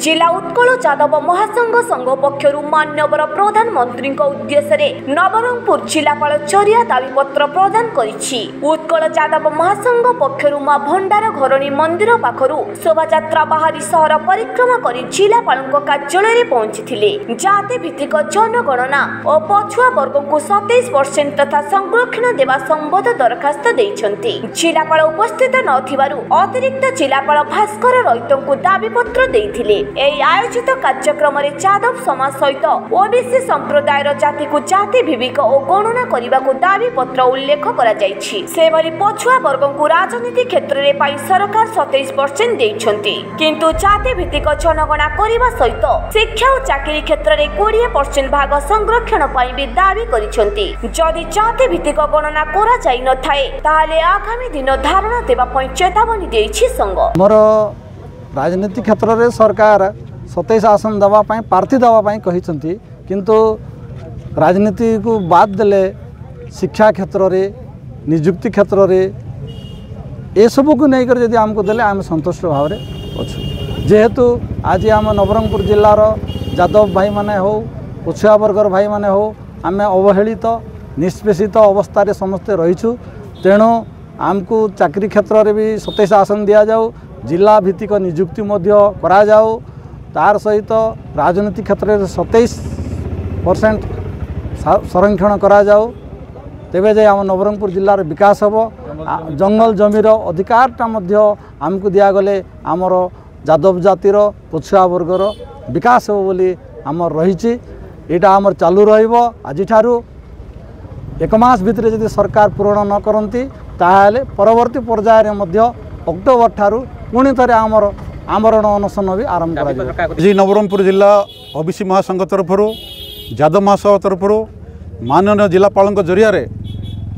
ଜିଲ୍ଲା ଉତ୍କଳ ଯାଦବ ମହାସଂଘ ସଂଘ ପକ୍ଷରୁ ମାନ୍ୟବର ପ୍ରଧାନମନ୍ତ୍ରୀଙ୍କ ଉଦ୍ଦେଶ୍ୟରେ ନବରଙ୍ଗପୁର ଜିଲ୍ଲାପାଳ ଜରିଆ ଦାବିପତ୍ର ପ୍ରଦାନ କରିଛି। ଉତ୍କଳ ଯାଦବ ମହାସଂଘ ପକ୍ଷରୁ ମା ଭଣ୍ଡାର ଘରଣୀ ମନ୍ଦିର ପାଖରୁ ଶୋଭାଯାତ୍ରା ବାହାରି ସହର ପରିକ୍ରମା କରି ଜିଲ୍ଲାପାଳଙ୍କ କାର୍ଯ୍ୟାଳୟରେ ପହଞ୍ଚିଥିଲେ। ଜାତି ଭିତ୍ତିକ ଜନଗଣନା ଓ ପଛୁଆ ବର୍ଗଙ୍କୁ 27% ତଥା ସଂରକ୍ଷଣ ଦେବା ସମ୍ବନ୍ଧ ଦରଖାସ୍ତ ଦେଇଛନ୍ତି। ଜିଲ୍ଲାପାଳ ଉପସ୍ଥିତ ନଥିବାରୁ ଅତିରିକ୍ତ ଜିଲ୍ଲାପାଳ ଭାସ୍କର ରଇତଙ୍କୁ ଦାବିପତ୍ର ଦେଇଥିଲେ। ଏହି ଆୟୋଜିତ କାର୍ଯ୍ୟକ୍ରମରେ ଯାଦବ ସମାଜ ସହିତ ଓବିସି ସମ୍ପ୍ରଦାୟର ଜାତିକୁ ଜାତି ଭିତ୍ତିକ ଓ ଗଣନା କରିବାକୁ ଦାବିପତ୍ର ଉଲ୍ଲେଖ କରାଯାଇଛି। ସେଭଳି ପଛୁଆ ବର୍ଗଙ୍କୁ ରାଜନୀତି କ୍ଷେତ୍ରରେ ପାଇଁ ସରକାର 27% ଦେଇଛନ୍ତି, କିନ୍ତୁ ଜାତି ଭିତ୍ତିକ ଜନଗଣନା କରିବା ସହିତ ଶିକ୍ଷା ଓ ଚାକିରି କ୍ଷେତ୍ରରେ 20% ଭାଗ ସଂରକ୍ଷଣ ପାଇଁ ବି ଦାବି କରିଛନ୍ତି। ଯଦି ଜାତି ଭିତ୍ତିକ ଗଣନା କରାଯାଇ ନଥାଏ, ତାହେଲେ ଆଗାମୀ ଦିନ ଧାରଣା ଦେବା ପାଇଁ ଚେତାବନୀ ଦେଇଛି ସଂଘ। ଆମର ରାଜନୀତି କ୍ଷେତ୍ରରେ ସରକାର 27 ଆସନ ଦେବା ପାଇଁ, ପ୍ରାର୍ଥୀ ଦେବା ପାଇଁ କହିଛନ୍ତି, କିନ୍ତୁ ରାଜନୀତିକୁ ବାଦ ଦେଲେ ଶିକ୍ଷା କ୍ଷେତ୍ରରେ, ନିଯୁକ୍ତି କ୍ଷେତ୍ରରେ ଏସବୁକୁ ନେଇକରି ଯଦି ଆମକୁ ଦେଲେ ଆମେ ସନ୍ତୁଷ୍ଟ ଭାବରେ ଅଛୁ। ଯେହେତୁ ଆଜି ଆମ ନବରଙ୍ଗପୁର ଜିଲ୍ଲାର ଯାଦବ ଭାଇମାନେ ହେଉ, ପଛୁଆ ବର୍ଗର ଭାଇମାନେ ହେଉ, ଆମେ ଅବହେଳିତ ନିଷ୍ପେଷିତ ଅବସ୍ଥାରେ ସମସ୍ତେ ରହିଛୁ। ତେଣୁ ଆମକୁ ଚାକିରି କ୍ଷେତ୍ରରେ ବି 27 ଆସନ ଦିଆଯାଉ, ଜିଲ୍ଲା ଭିତ୍ତିକ ନିଯୁକ୍ତି ମଧ୍ୟ କରାଯାଉ, ତାର ସହିତ ରାଜନୀତି କ୍ଷେତ୍ରରେ 27% ସଂରକ୍ଷଣ କରାଯାଉ, ତେବେ ଯାଇ ଆମ ନବରଙ୍ଗପୁର ଜିଲ୍ଲାର ବିକାଶ ହେବ। ଜଙ୍ଗଲ ଜମିର ଅଧିକାରଟା ମଧ୍ୟ ଆମକୁ ଦିଆଗଲେ ଆମର ଯାଦବ ଜାତିର ପଛୁଆ ବର୍ଗର ବିକାଶ ହେବ ବୋଲି ଆମର ରହିଛି। ଏଇଟା ଆମର ଚାଲୁ ରହିବ। ଆଜିଠାରୁ ଏକ ମାସ ଭିତରେ ଯଦି ସରକାର ପୂରଣ ନ କରନ୍ତି, ତାହେଲେ ପରବର୍ତ୍ତୀ ପର୍ଯ୍ୟାୟରେ ମଧ୍ୟ ଅକ୍ଟୋବର ଠାରୁ ପୁଣି ଥରେ ଆମର ଆମରଣ ଅନଶନ ବି ଆରମ୍ଭ କରାଯିବ। ଆଜି ନବରଙ୍ଗପୁର ଜିଲ୍ଲା ଓବିସି ମହାସଂଘ ତରଫରୁ, ଯାଦବ ମହାସଭା ତରଫରୁ ମାନନୀୟ ଜିଲ୍ଲାପାଳଙ୍କ ଜରିଆରେ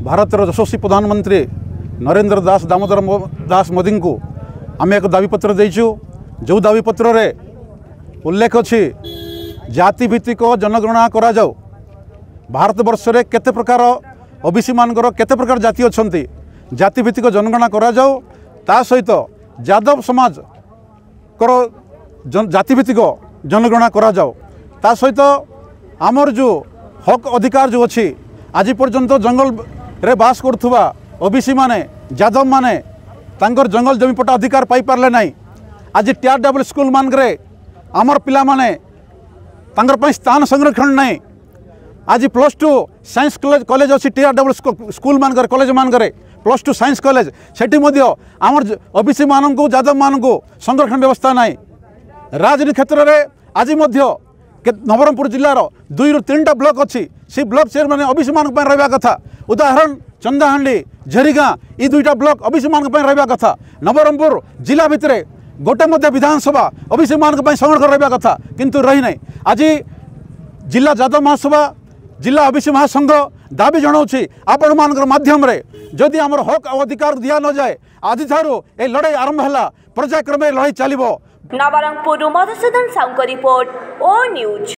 ଭାରତର ଯଶସ୍ୱୀ ପ୍ରଧାନମନ୍ତ୍ରୀ ନରେନ୍ଦ୍ର ଦାସ ଦାମୋଦର ଦାସ ମୋଦିଙ୍କୁ ଆମେ ଏକ ଦାବିପତ୍ର ଦେଇଛୁ, ଯେଉଁ ଦାବିପତ୍ରରେ ଉଲ୍ଲେଖ ଅଛି ଜାତିଭିତ୍ତିକ ଜନଗଣନା କରାଯାଉ। ଭାରତବର୍ଷରେ କେତେ ପ୍ରକାର ଓବିସି ମାନଙ୍କର କେତେ ପ୍ରକାର ଜାତି ଅଛନ୍ତି, ଜାତିଭିତ୍ତିକ ଜନଗଣନା କରାଯାଉ। ତା ସହିତ ଯାଦବ ସମାଜଙ୍କର ଜାତିଭିତ୍ତିକ ଜନଗଣନା କରାଯାଉ। ତା ସହିତ ଆମର ଯେଉଁ ହକ୍ ଅଧିକାର ଯେଉଁ ଅଛି, ଆଜି ପର୍ଯ୍ୟନ୍ତ ଜଙ୍ଗଲରେ ବାସ କରୁଥିବା ଓବିସି ମାନେ, ଯାଦବ ମାନେ ତାଙ୍କର ଜଙ୍ଗଲ ଜମି ପଟ୍ଟା ଅଧିକାର ପାଇପାରିଲେ ନାହିଁ। ଆଜି ଟିଆର୍ ଡବ୍ଲ୍ୟୁ ସ୍କୁଲ ମାନଙ୍କରେ ଆମର ପିଲାମାନେ ତାଙ୍କର ପାଇଁ ସ୍ଥାନ ସଂରକ୍ଷଣ ନାହିଁ। ଆଜି +2 ସାଇନ୍ସ କଲେଜ ଅଛି ଟିଆର୍ ଡବ୍ଲ୍ୟୁ ସ୍କୁଲ ମାନଙ୍କରେ, କଲେଜ ମାନଙ୍କରେ +2 ସାଇନ୍ସ କଲେଜ, ସେଠି ମଧ୍ୟ ଆମର ଓବିସି ମାନଙ୍କୁ, ଯାଦବ ମାନଙ୍କୁ ସଂରକ୍ଷଣ ବ୍ୟବସ୍ଥା ନାହିଁ। ରାଜନୀତି କ୍ଷେତ୍ରରେ ଆଜି ମଧ୍ୟ ନବରଙ୍ଗପୁର ଜିଲ୍ଲାର 2ରୁ 3ଟା ବ୍ଲକ ଅଛି, ସେ ବ୍ଲକ ଚେୟାରମ୍ୟାନ୍ ଓବିସି ମାନଙ୍କ ପାଇଁ ରହିବା କଥା। ଉଦାହରଣ ଚନ୍ଦାହାଣ୍ଡି, ଝରିଗାଁ, ଏ 2ଟା ବ୍ଲକ ଓବିସି ମାନଙ୍କ ପାଇଁ ରହିବା କଥା। ନବରଙ୍ଗପୁର ଜିଲ୍ଲା ଭିତରେ ଗୋଟେ ମଧ୍ୟ ବିଧାନସଭା ଓବିସି ମାନଙ୍କ ପାଇଁ ସଂରକ୍ଷଣ ରହିବା କଥା, କିନ୍ତୁ ରହିନାହିଁ। ଆଜି ଜିଲ୍ଲା ଯାଦବ ମହାସଭା, ଜିଲ୍ଲା ଓବିସି ମହାସଂଘ ଦାବି ଜଣାଉଛି ଆପଣମାନଙ୍କର ମାଧ୍ୟମରେ, ଯଦି ଆମର ହକ୍ ଆଉ ଅଧିକାର ଦିଆ ନଯାଏ, ଆଜିଠାରୁ ଏ ଲଢ଼େଇ ଆରମ୍ଭ ହେଲା, ପର୍ଯ୍ୟାୟକ୍ରମେ ଲଢ଼େଇ ଚାଲିବ। ନବରଙ୍ଗପୁରରୁ ମଧୁସୂଦନ ସାହୁଙ୍କ ରିପୋର୍ଟ, ଓ ନ୍ୟୁଜ୍।